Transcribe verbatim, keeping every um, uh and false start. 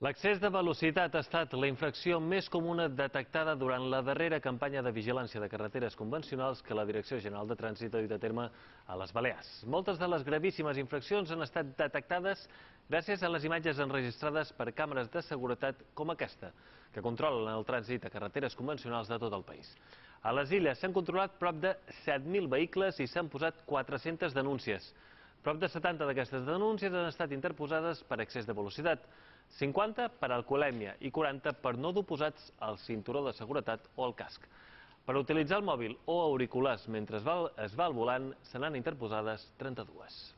L'excés de velocitat ha estat la infracció més comuna detectada durant la darrera campanya de vigilància de carreteres convencionals que la Direcció General de Trànsit ha dut a terme a les Balears. Moltes de les gravíssimes infraccions han estat detectades gràcies a les imatges enregistrades per càmeres de seguretat com aquesta, que controlen el trànsit a carreteres convencionals de tot el país. A les Illes s'han controlat prop de set mil vehicles i s'han posat quatre-centes denúncies. Prop de setanta d'aquestes denúncies han estat interposades per excés de velocitat, cinquanta per alcoholèmia i quaranta per no dur posats el cinturó de seguretat o el casc. Per utilitzar el mòbil o auriculars mentre es va al volant se n'han interposades trenta-dues.